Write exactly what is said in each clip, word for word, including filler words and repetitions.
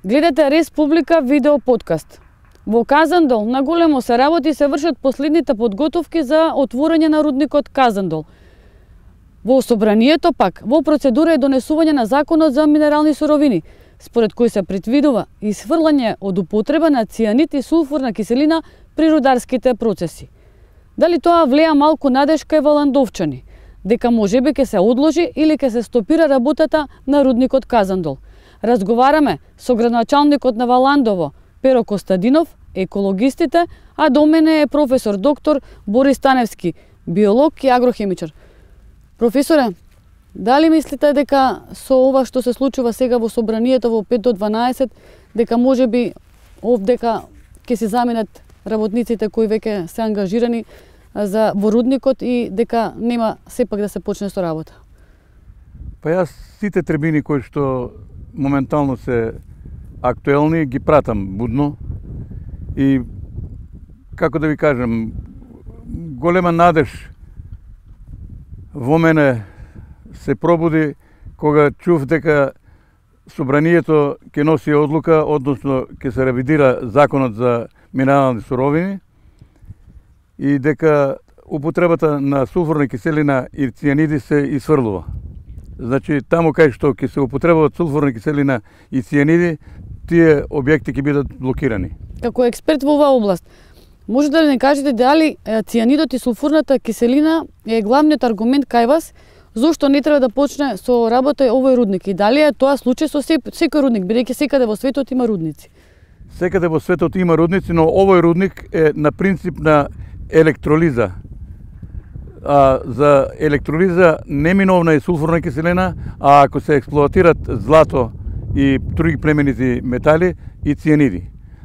Гледате Республика видео подкаст. Во Казандол на големо се работи и се вршат последните подготовки за отворање на рудникот Казандол. Во собранието пак, во процедура е донесување на законот за минерални суровини, според кој се предвидува исфрлање од употреба на цијанид и сулфурна киселина при рударските процеси. Дали тоа влеа малку надежка и во ландовчани, дека можеби ќе се одложи или ќе се стопира работата на рудникот Казандол? Разговараме со градоначалникот на Валандово, Перо Костадинов, екологистите, а до мене е професор доктор Борис Таневски, биолог и агрохимичар. Професоре, дали мислите дека со ова што се случува сега во собранието во пет до дванаесет, дека можеби овдека ќе се заминат работниците кои веќе се ангажирани за во рудникот и дека нема сепак да се почне со работа? Па јас сите требини кои што моментално се актуелни ги пратам будно и како да ви кажам, голема надеж во мене се пробуди кога чув дека собранието ќе носи одлука, односно ќе се ревидира законот за минерални суровини и дека употребата на сулфурна киселина и цијаниди се исфрлува. Значи, таму кај што ќе се употребуваат сулфурна киселина и цијаниди, тие објекти ќе бидат блокирани. Како експерт во оваа област, може да ли не кажете дали цијанидот и сулфурната киселина е главниот аргумент кај вас зошто не треба да почне со работа овој рудник и дали е тоа случај со секој рудник, бидејќи секаде во светот има рудници? Секаде во светот има рудници, но овој рудник е на принцип на електролиза. А, за електролиза неминовна е сулфурна киселина, а ако се експлоатират злато и други племенити метали и цијаниди.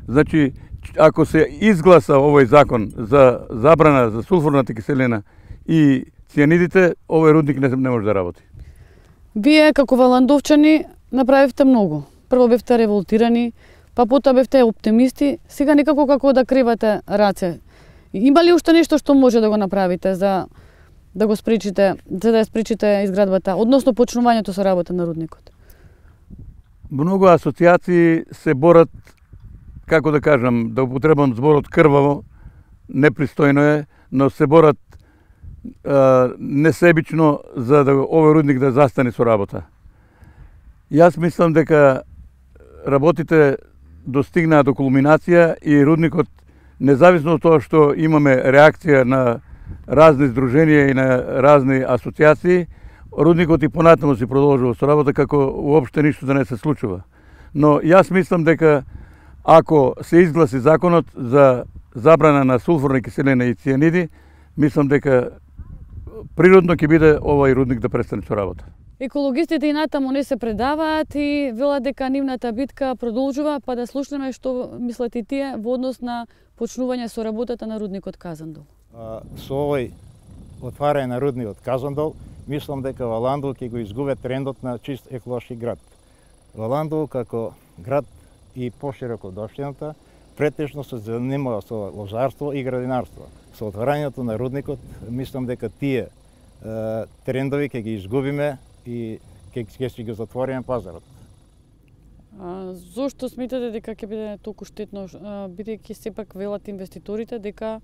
Значи, ако се изгласа овој закон за забрана за сулфурната киселина и цијанидите, овој рудник не, не може да работи. Вие како валандовчани направивте многу. Прво бевте револтирани, па потоа бевте оптимисти, сега некако како да кривате раце. Има ли уште нешто што може да го направите за да го спречите, за да ја спречите изградбата, односно почнувањето со работа на рудникот? Многу асоцијации се борат, како да кажам, да употребам зборот крваво, непристојно е, но се борат а, несебично за да овој рудник да застане со работа. Јас мислам дека работите достигнаа до кулминација и рудникот, независно од тоа што имаме реакција на разни здруженија и на разни асоцијации, рудникот и понатаму си продолжува со работа како уопште ништо да не се случува. Но јас мислам дека ако се изгласи законот за забрана на сулфурна киселина и цијаниди, мислам дека природно ќе биде овој рудник да престане со работа. Екологистите и натаму не се предаваат и велат дека нивната битка продолжува, па да слушнеме што мислат и тие во однос на почнување со работата на рудникот Казандол. Со овој отварање на рудникот Казандол, мислам дека Валандово ќе го изгубе трендот на чист еколошки град. Валандово како град и пошироко од општината претежно се занимава со лозарство и градинарство. Со отварањето на рудникот, мислам дека тие е, трендови ќе ги изгубиме и ќе ќе ги затвориме пазарот. А, зошто сметате дека ќе биде толку штетно, бидејќи сепак велат инвеститорите дека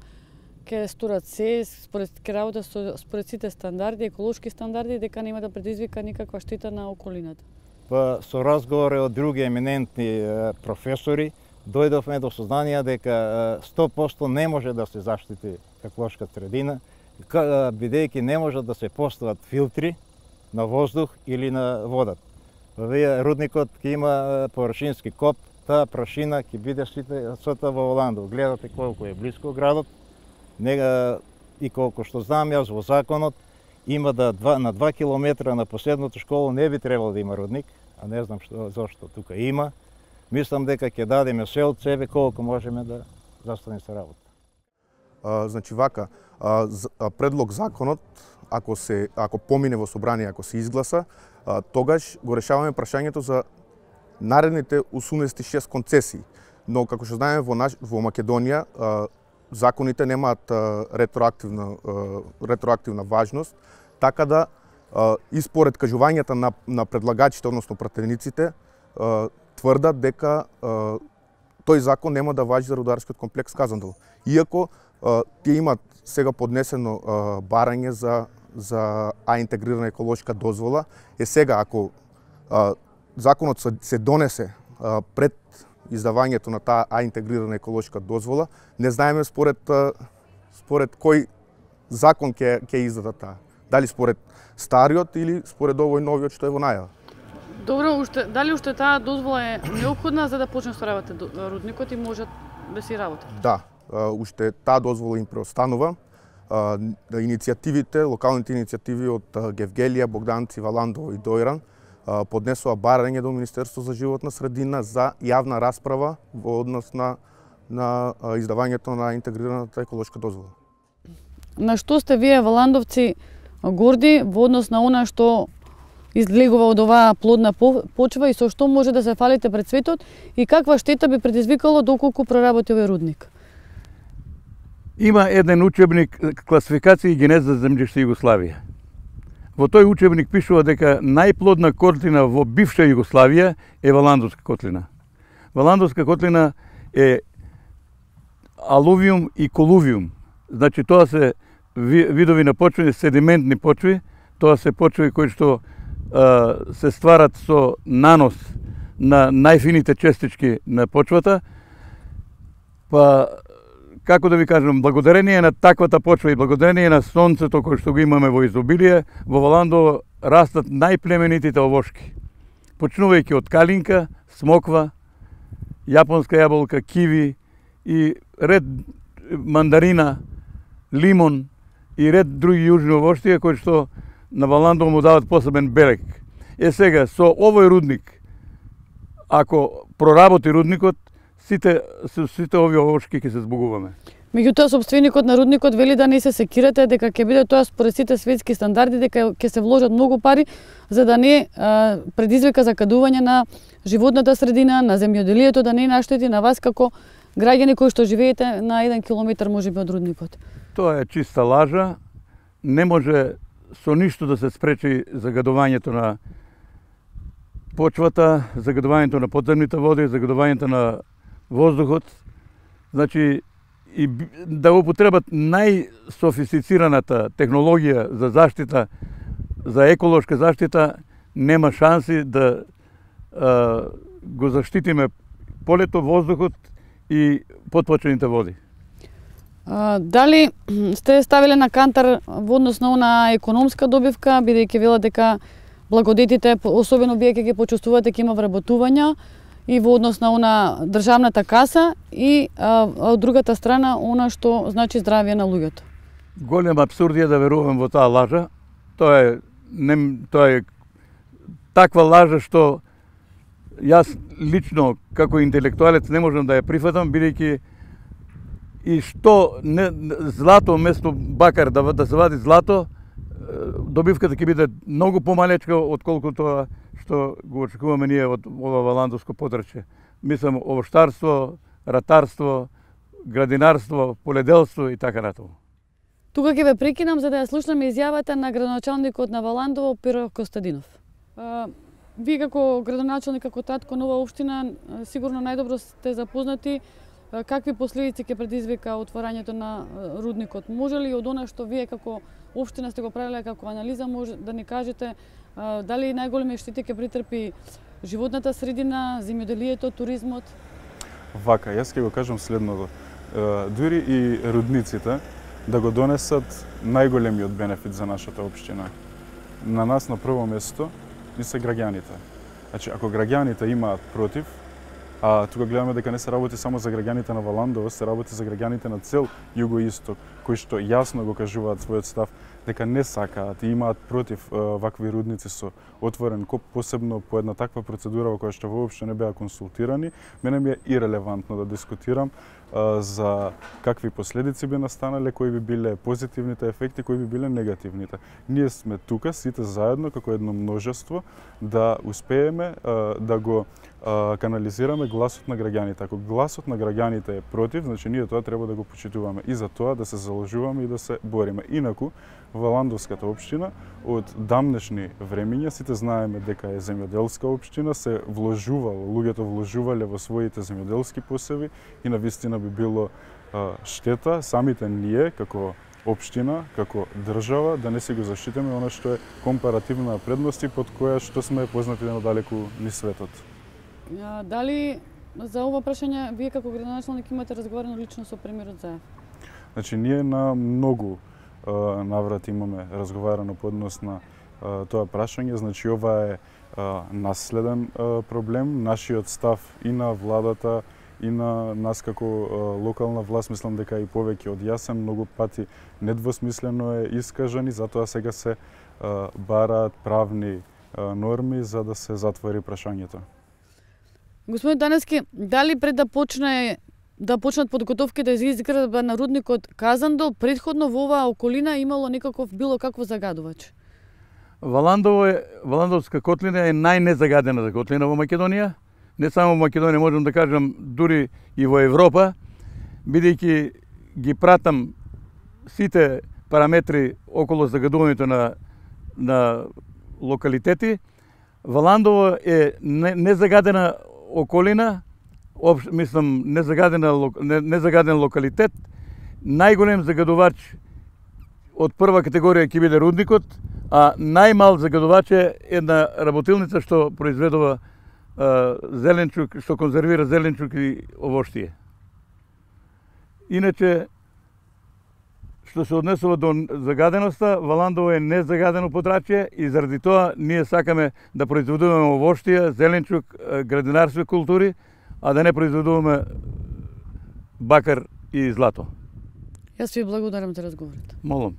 ќе сторат се според ќе работа со според сите стандарди, еколошки стандарди, дека нема да предизвика никаква штета на околината? Па со разговори од други еминентни е, професори дојдовме до сознание дека сто проценти не може да се заштити еколошка средина, бидејќи не може да се постават филтри на воздух или на водат. Овие рудникот ќе има површински коп, таа прашина ќе биде сите во Валандово. Гледате колку е близко градот. Нега и колку што знам јас во законот има да два, на два километра на последната школа не би требало да има рудник, а не знам што зошто тука има. Мислам дека ќе дадеме се од себе колку можеме да застане со работа. А, значи вака, а, а, предлог законот ако се ако помине во собрание, ако се изгласа, а, тогаш го решаваме прашањето за наредните осумдесет и шест концесии. Но како што знаеме во наш, во Македонија а, законите немаат а, ретроактивна а, ретроактивна важност, така да а, и според кажувањата на на предлагачите, односно пратениците, тврдат дека а, тој закон нема да важи за рударскиот комплекс Казандол. Иако а, тие имат сега поднесено а, барање за за А интегрирана еколошка дозвола, е сега ако а, законот се донесе а, пред издавањето на таа А интегрирана еколошка дозвола, не знаеме според според кој закон ќе ќе издаде таа. Дали според стариот или според овој новиот што е во најава. Добро, уште дали уште таа дозвола е неопходна за да почне со работа рудникот и можат да си работат? Да, уште таа дозвола им преостанува. Иницијативите, локалните иницијативи од Гевгелија, Богданци, Валандово и Дојран поднесува барање до Министерство за животна средина за јавна расправа во однос на на издавањето на интегрираната еколошка дозвола. На што сте вие валандовци горди во однос на она што излегува од оваа плодна почва и со што може да се фалите пред светот и каква штета би предизвикало доколку проработи овој рудник? Има еден учебник класификација и генеза за земјиште Југославија. Во тој учебник пишува дека најплодна котлина во бивша Југославија е Валандовска котлина. Валандовска котлина е алувиум и колувиум. Значи тоа се видови на почви, седиментни почви, тоа се почви кои што а, се стварат со нанос на најфините честички на почвата, па како да ви кажам, благодарение на таквата почва и благодарение на сонцето кој што го имаме во изобилие, во Валандово растат најплеменитите овошки. Почнувајќи од калинка, смоква, јапонска јаболка, киви и ред мандарина, лимон и ред други јужни овоштија кои што на Валандово му дават посебен белек. Е сега, со овој рудник, ако проработи рудникот, сите сите овие овошки ќе се збогуваме. Меѓутоа сопственикот на рудникот вели да не се секирате, дека ќе биде тоа според сите светски стандарди, дека ќе се вложат многу пари за да не а, предизвика закадување на животната средина, на земјоделието, да не наштети на вас како граѓани кои што живеете на еден километар можеби од рудникот. Тоа е чиста лажа. Не може со ништо да се спречи загадувањето на почвата, загадувањето на подземните води, загадувањето на воздухот. Значи, и да употребат најсофистицираната технологија за заштита, за еколошка заштита, нема шанси да а, го заштитиме полето, воздухот и потпочвените води. А, дали сте ставиле на кантар во однос на она економска добивка, бидејќи велат дека благодетите, особено вие ќе ги почувствувате, ќе има вработувања и во однос на она државната каса и а, од другата страна она што значи здравје на луѓето. Голем апсурд е да верувам во таа лажа. Тоа е не тоа е таква лажа што јас лично како интелектуалец не можам да ја прифатам, бидејќи и што не, злато место бакар да, да се вади злато, добивката ќе биде многу помалечка отколку тоа што го очекуваме ние од ова валандовско подрачје. Мислам овоштарство, ратарство, градинарство, поледелство и така натаму. Тука ќе ве прекинам за да ја слушнеме изјавата на градоначалникот на Валандово Пиро Костадинов. А, вие како градоначалник, како татко на оваа општина, сигурно најдобро сте запознати какви последици ќе предизвика отворањето на рудникот. Може ли од она што вие како општина сте го правиле како анализа, може да ни кажете а, дали најголеми штети ќе претрпи животната средина, земјоделието, туризмот? Вака, јас ќе го кажам следното. Дури и рудниците да го донесат најголемиот бенефит за нашата општина. На нас на прво место ни се граѓаните. Значи, ако граѓаните имаат против, а тука гледаме дека не се работи само за граѓаните на Валандово, се работи за граѓаните на цел Југоисток, кои што јасно го кажуваат својот став дека не сакаат и имаат против е, вакви рудници со отворен коп, посебно по една таква процедура во која што воопшто не беа консултирани. Мене ми е ирелевантно да дискутирам за какви последици би настанале, кои би биле позитивните ефекти, кои би биле негативните. Ние сме тука сите заедно како едно множество да успееме да го канализираме гласот на граѓаните. Ако гласот на граѓаните е против, значи ние тоа треба да го почитуваме и за тоа да се заложуваме и да се бориме. Инаку во Ландовската општина од дамнешни времиња сите знаеме дека е земјоделска општина, се вложувало, луѓето вложувале во своите земјоделски посеви и навистина би било а, штета самите ние како општина, како држава да не си го заштитиме она што е компаративна предност и под која што сме познати надалеку низ светот. А, дали за ова прашање вие како градоначалник имате разговарано лично со премиерот Заев? Значи ние на многу а, наврати имаме разговарано по однос на а, тоа прашање, значи ова е а, наследен а, проблем, нашиот став и на владата и на нас како а, локална власт, мислам дека и повеќе од јасен, многу пати недвосмислено е искажан и затоа сега се а, бараат правни а, норми за да се затвори прашањето. Господин Таневски, дали пред да почне да почнат подготовките за изградба на рудникот Казандол, претходно во оваа околина имало некаков било какво загадувач? Валандово е, Валандовска котлина е најнезагадената котлина во Македонија. Не само во Македонија, можам да кажам, дури и во Европа, бидејќи ги пратам сите параметри околу загадувањето на, на локалитети. Валандово е незагадена околина, обш, мислам, незагадена, незагаден локалитет. Најголем загадувач од прва категорија ќе биде рудникот, а најмал загадувач е една работилница што произведува а, зеленчук, што конзервира зеленчук и овоштие. Иначе, што се однесува до загаденоста, Валандово е незагадено подрачје и заради тоа ние сакаме да произведуваме овоштија, зеленчук, градинарски култури, а да не произведуваме бакар и злато. Јас ви благодарам за разговорот. Молам.